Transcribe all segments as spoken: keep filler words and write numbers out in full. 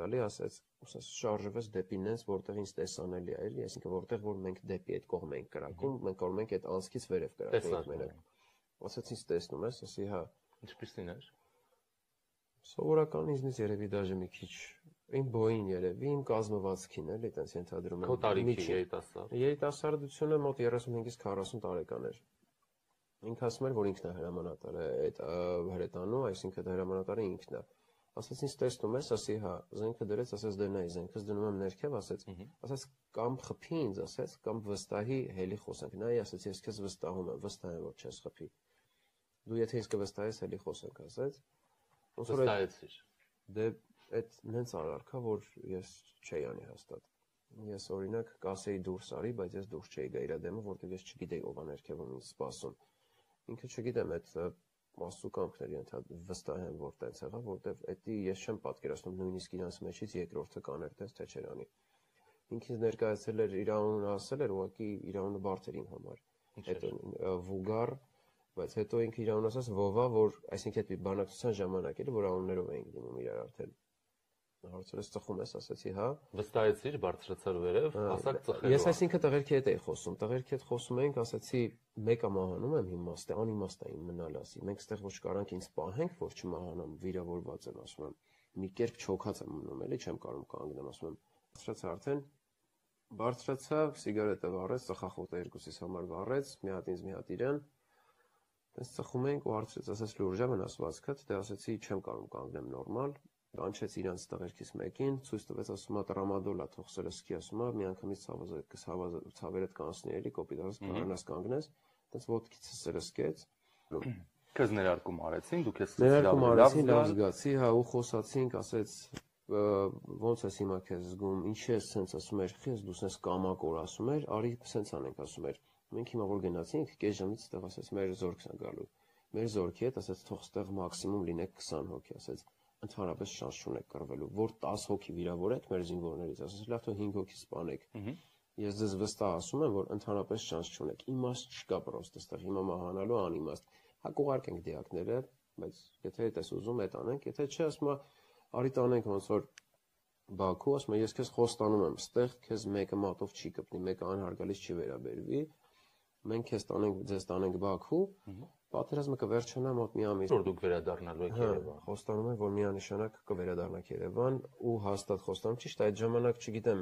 տալի, ասեց, ուսես շարժվեց դեպի նենց, որտեղ ինձ տեսանելի է, էլի, այսինքն որտեղ որ մենք դեպի այդ կողմ ենք կրակում, մենք կարող ենք այդ անցքից վերև կրակենք մենակ։ Ասեց ինձ տեսնում ես, ասի հա։ Ինչպես լիներ։ Սովորական ինձնից երևի դաժե մի քիչ իմ բոյին երևի, իմ կազմվածքին էլի, այտենց ենթադրում եմ։ Քո տարիքի երիտասարդ։ Երիտասարդությունը մոտ երեսունհինգից քառասուն տարեկան էր։ Ինքը ասում էր, որ ինքն է հրամանատարը այդ հրետանու, այսինքն հրամանատարը ինքն է։ Ասեց ինձ տեսնում ես, ասի հա, զենքը դրեց, ասեց դե նայ, զենքս դնում եմ ներքև, ասեց, ասեց կամ խփի ինձ, ասեց, կամ վստահի հելի խոսենք։ Նայ, ասեց, ես քեզ վստահում եմ, վստահ եմ, որ չես խփի։ Դու եթե ինձ կվստահես, հելի խոսենք, ասեց։ Վստահեցիր։ Դե այդ նենց արարքա, որ ես չէի անի հաստատ։ Ես օրինակ կասեի դուրս արի, բայց ես դուրս չէի գա իր դեմը, որտեղ ես չգիտեի ով է ներքևում ինձ սպասում։ Ինքը չգիտեմ այդ մասուկամքների վստահ եմ, որ տենց եղա, որտեվ էդի ես չեմ պատկերացնում նույնիսկ իրանց մեջից երկրորդը կաներ տես թե չէր անի։ Ինքնից ներկայացել էր իր անունը ասել էր, ուղղակի իր անունը բարդ էր իմ համար։ Այդ վուգար, բայց հետո ինքը իր անունը ասաց Վովա, որ այսինքն այդ բանակցության ժամանակ էր, որ անուններով էին դիմում իրար արդեն։ Հարցրեց ծխում ես, ասացի հա։ Վստահեցիր, բարձրացար վերև, ասակ ծխելու։ Ես այսինքն տղերքի հետ էի խոսում, տղերքի հետ խոսում էինք, ասացի մեկը մահանում եմ իմաստ է, անիմաստ է իմ մնալ ասի։ Մենք ստեղ ոչ կարանք ինձ պահենք, որ չմահանամ, վիրավորված եմ, ասում եմ։ Մի կերպ չոքած եմ մնում, էլի չեմ կարող կանգնեմ, ասում եմ։ Բարձրացա արդեն, բարձրացա, սիգարետը վառեց, ծխախոտը երկուսիս համար վառեց, մի հատ ինձ, մի հատ իրան։ Այս ծխում էինք ու հարցրեց, ասես լուրջ է վնասվածքդ, դե ասեցի չեմ կարող կանգնեմ նորմալ։ Կանչեց իրանց տղերքից մեկին, ցույց տվեց, ասում է տրամադոլ է, թող սրսկի, ասում է, միանգամից ցավերդ կանցնի էլի, կոպիտ ասած կանանաս կանգնես, այդպես ոտքից սրսկեց։ Քեզ ներարկում արեցին, դու քեզ ներարկում արեցին, լավ զգացի, հա, ու խոսացինք, ասեց ոնց ես հիմա քեզ զգում, ինչի ես սենց ասում էր, քեզ դու սենց կամակոր ասում էր, արի սենց անենք ասում էր։ Մենք հիմա որ գնացինք, կես ժամից ստեղ ասեց մեր զորքն է գալու։ Մեր զորքի հետ ասեց թող ստեղ մաքսիմում լինեք քսան հոգի, ասեց ընդհանրապես շանս չունեք կռվելու, որ տասը հոգի վիրավորեք մեր զինվորներից, ասես լավ թող հինգ հոգի սպանեք։ Ես ձեզ վստահ ասում եմ, որ ընդհանրապես շանս չունեք։ Իմաստ չկա պրոստը ստեղ հիմա մահանալու անիմաստ։ Հա կուղարկենք դիակները, բայց եթե այդ ես ուզում, այդ անենք, եթե չէ, ասում եմ, արի տանենք ոնց որ Բաքու, ասում եմ, ես քեզ խոստանում եմ, ստեղ քեզ մեկը մատով չի կպնի, մեկը անհարգալից չի վերաբերվի։ Մենք քեզ տանենք, ձեզ տանենք Բաքու, պատերազմը կվերջանա մոտ մի ամիս։ Որ դուք վերադառնալու եք Երևան։ Խոստանում եմ, որ միանշանակ կվերադառնաք Երևան ու հաստատ խոստանում, ճիշտ այդ ժամանակ չգիտեմ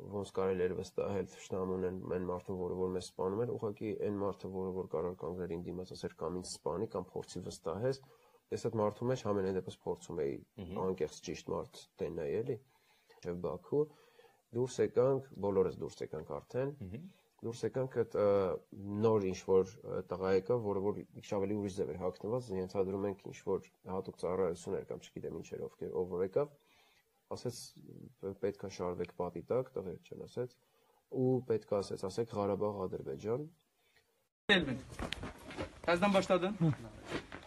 ոնց կարելի էր վստահել թշնամուն այն մարդուն, որը որ մեզ սպանում էր, ուղղակի այն մարդը, որը որ կարող կանգներ ին դիմաց ասեր կամ ինձ սպանի կամ փորձի վստահես, ես այդ մարդու մեջ ամենայն դեպս փորձում էի անկեղծ ճիշտ մարդ տենայի էլի, եւ Բաքու դուրս եկանք, բոլորս դուրս եկանք արդեն։ Դուրս եկանք այդ նոր ինչ-որ տղա եկա, որը որ ինչ ավելի ուրիշ ձև էր հագնված, ենթադրում ենք ինչ-որ հատուկ ծառայություն էր կամ չգիտեմ ինչ էր ովքեր ով որ եկավ, ասեց պետքա շարվեք պատի տակ, տղեր չեն ասեց, ու պետքա ասեց, ասեք Ղարաբաղ, Ադրբեջան։ Каздан баштадın?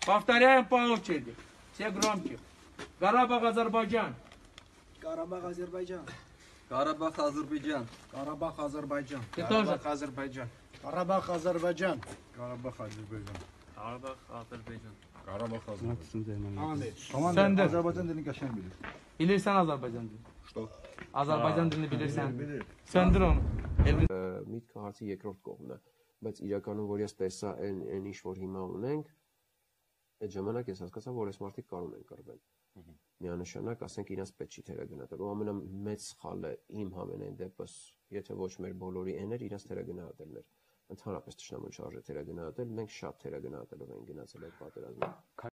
Повторяем по очереди. Все громче. Карабах, Азербайджан. Карабах, Азербайджан. Карабах, Азербайджан. Карабах, Азербайджан. Ты тоже? Карабах, Азербайджан. Карабах, Азербайджан. Карабах, Азербайджan. Karabağ, Azerbaycan. Karabah, Azerbaycan. Tamam. Sen de. Azerbaycan dilini kaşen bilir. Bilirsen Azerbaycan dilini. Что? Azerbaycan dilini bilirsen. Bilir. Söndür onu. Միտքը հարցի երկրորդ կողմն է, բայց իրականում որ ես տեսա այն այն ինչ որ հիմա ունենք, այդ ժամանակ ես հասկացա, որ այս մարդիկ կարող են կռվել։ Միանշանակ, ասենք իրանց պետք չի թերագնահատել։ Ու ամենամեծ սխալը իմ համենայն դեպս, եթե ոչ մեր բոլորի են էր, իրանց թերագնահատելն էր։ Ընդհանրապես թշնամուն շարժը թերագնահատել, մենք շատ թերագնահատելով ենք գնացել այդ պատերազմը։